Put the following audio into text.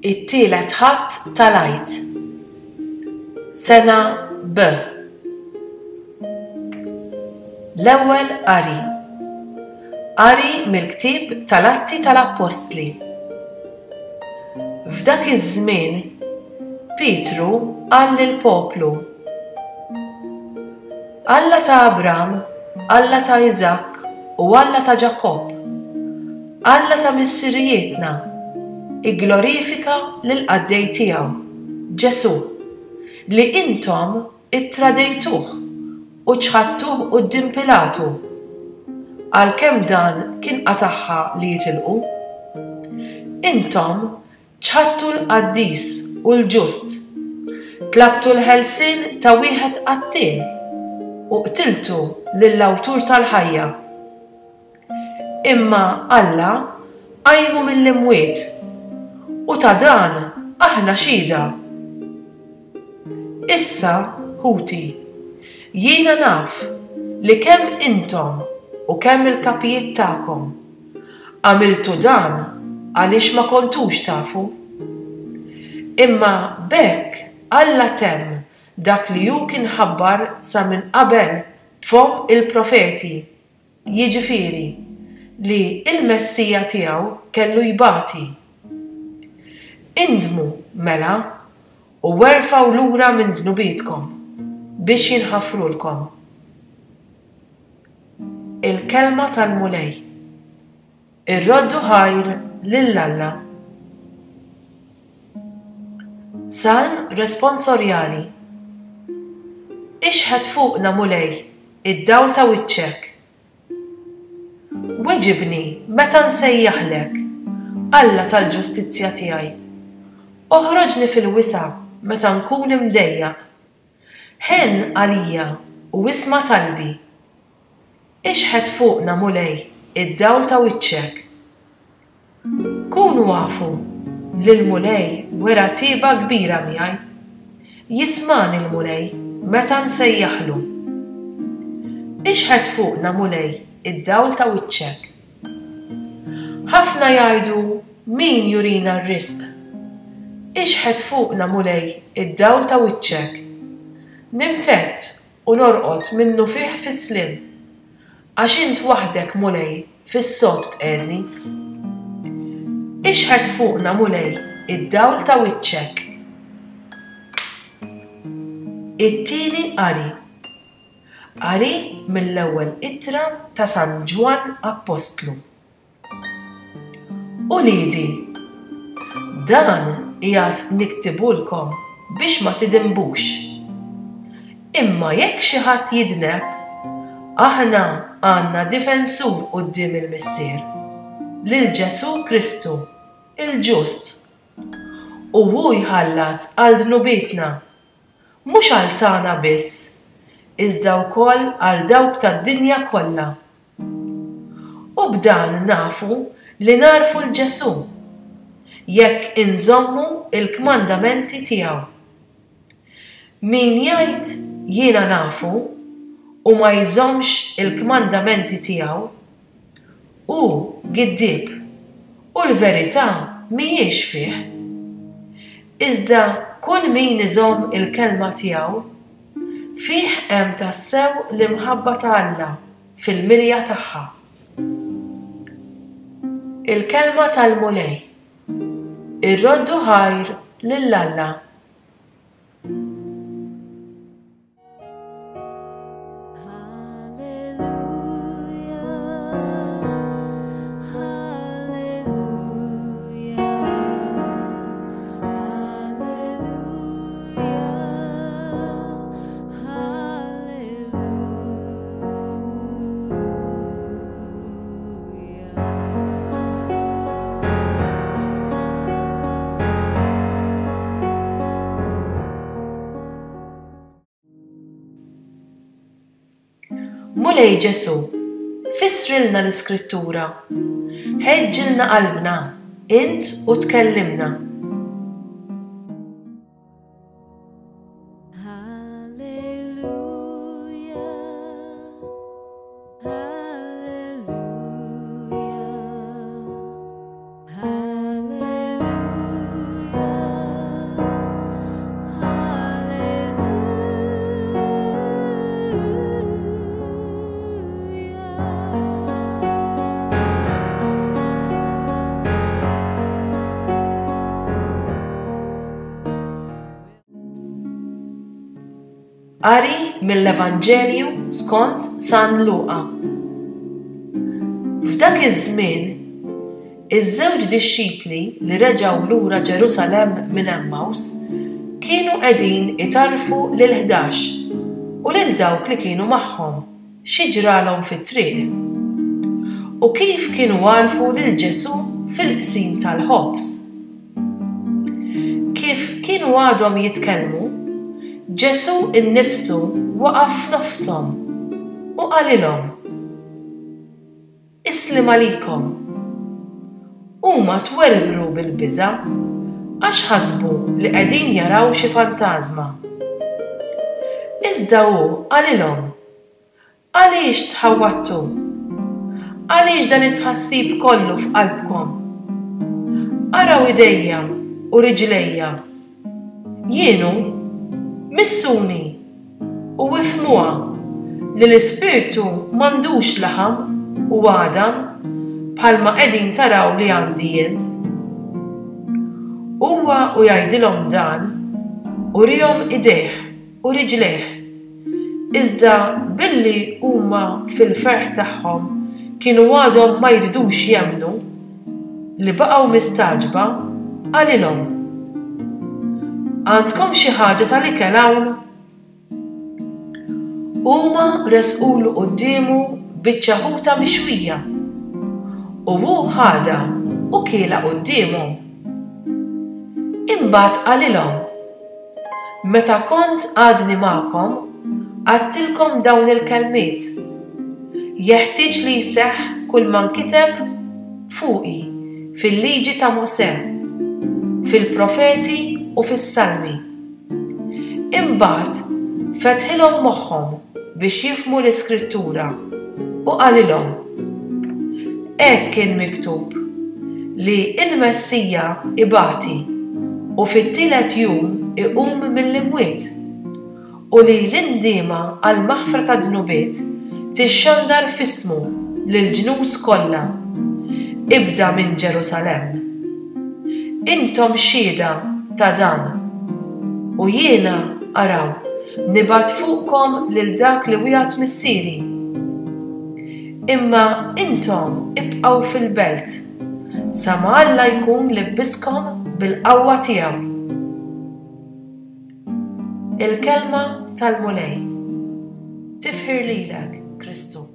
It-tielet Ħadd tal-Għid. Sena B. L-ewwel qari. Qari mill-ktieb tal-Atti tal-Appostli. F'dak iż-żmien Pietru qal lill-poplu, Alla ta' Abram, Alla ta' Iżakk u Alla ta' Ġakobb, Alla ta' missirijietna, igglorifika lill-qaddej tiegħu, Ġesù, li intom ittradejtuh u ċħadtuh quddiem Pilatu, għalkemm dan kien qatagħha li jitilqu. Intom Ċħadtu l-Qaddis u l-Ġust, tlabtu l-ħelsien ta' wieħed qattiel u qtiltu lill-Awtur tal-ħajja. Imma Alla qajmu mill-imwiet, u ta' dan aħna xhieda. Issa, ħuti, jiena naf li kemm intom u kemm il-kapijiet tagħkom Għamiltu dan għaliex ma kontux tafu. Imma b'hekk Alla temm dak li hu kien ħabbar sa minn qabel b'fomm il-profeti, jiġifieri, li l-Messija tiegħu kellu jbati. Indmu, mela, u erfgħu lura minn dnubietkom, biex jinħafrulkom. Il-Kelma tal-Mulej. Irroddu ħajr lil Alla. Salm responsorjali. Ixħet fuqna, Mulej, id-dawl ta' wiċċek. Weġibni meta nsejjaħlek, Alla tal-ġustizzja tiegħi. Oħroġni fil-wisa' meta nkun imdejjaq. Ħenn għalija u isma' talbi. Ixħet fuqna, Mulej, id-dawl ta' wiċċek. Kunu afu li l-Mulej wera tjieba kbira miegħi. Jismagħni l-Mulej meta nsejjaħlu. Ixħet fuqna, Mulej, id-dawl ta' wiċċek. Ħafna jgħidu min jurina r-risq. Ixħet fuqna, Mulej, id-dawl ta' wiċċek. Nimtedd u norqod minnufih fis-sliem, għax int waħdek, Mulej, fis-sod tqegħedni. Ixħet fuqna, Mulej, id-dawl ta' wiċċek. It-tieni qari. Qari mill-ewwel ittra ta' San Ġwann Appostlu. Uliedi, dan qiegħed niktibulkom biex ma tidinbux. Imma jekk xi ħadd jidneb, aħna għandna difensur quddiem il-Missier, lil Ġesù Kristu, il-ġust. U hu jħallas għal dnubietna Mhux għal tagħna biss, iżda wkoll għal dawk tad-dinja kollha. U b'dan nafu li nagħrfu 'l Ġesù, jekk inżommu l-kmandamenti tiegħu. Min jgħid jiena nafu u ma jżommx il-kmandamenti tiegħu, Hu giddieb, u l-verità mhijiex fih. Iżda kull min iżomm il-kelma tiegħu, fih hemm tassew l-imħabba ta' Alla fil-milja tagħha. Il-Kelma tal-Mulej. Irroddu ħajr lil Alla. Mulej Ġesù, fissrilna l-Iskrittura, ħeġġilna qalbna, int u tkellimna. Hallelujah. Qari mill-Evanġelju skont San Luqa. F'dak iż-żmien, iż-żewġ dixxipli li reġgħu lura Ġerusalemm minn Għemmaws kienu qegħdin itarrfu lill-Ħdax u lil dawk li kienu magħhom xi ġralhom fit-triq, u kif kienu għarfu lil Ġesù fil-qsim tal-ħobż. Kif kienu għadhom jitkellmu, Ġesù nnifsu waqaf f'nofshom u qalilhom, Is-sliem għalikom. Huma twerwru bil-biża' għax ħasbu li qegħdin jaraw xi fantażma. Iżda hu qalilhom, Għaliex tħawwadtu? Għaliex dan it-tħassib kollu f'qalbkom? Araw idejja u riġlejja. Jien hu. Missuni u ifhmuha li l-ispirtu m'għandux laħam u għadam bħalma qegħdin taraw li għandi jien. Huwa u jgħidilhom dan, uriehom idejh u riġlejh. Iżda billi huma fil-ferħ tagħhom kienu għadhom ma jridux jemmnu, li baqgħu mistagħġba, qalilhom, Għandkom xi ħaġa tal-ikel hawn? Huma resqulu quddiemu biċċa ħuta mixwija, u hu ħadha u kielha quddiemhom. Imbagħad qalilhom, Meta kont għadni magħkom, għedtilkom dawn il-kelmiet, Jeħtieġ li jseħħ kulma nkiteb fuqi fil-Liġi ta' Mosè, fil-Profeti u fis-Salmi. Imbagħad fetħilhom moħħhom biex jifhmu l-Iskrittura u qalilhom, Hekk kien miktub, li l-Messija ibati u fit-tielet jum iqum mill-imwiet, u li l-indiema għall-maħfra tad-dnubiet tixxandar f'ismu lill-ġnus kollha, ibda minn Ġerusalemm. Intom xhieda ta' dan. U jiena, araw, nibgħat fuqkom lil dak li wiegħed Missieri. Imma intom ibqgħu fil-belt, sa ma Alla jkun libbiskom bil-qawwa tiegħu. Il-Kelma tal-Mulej. Tifħir lilek, Kristu.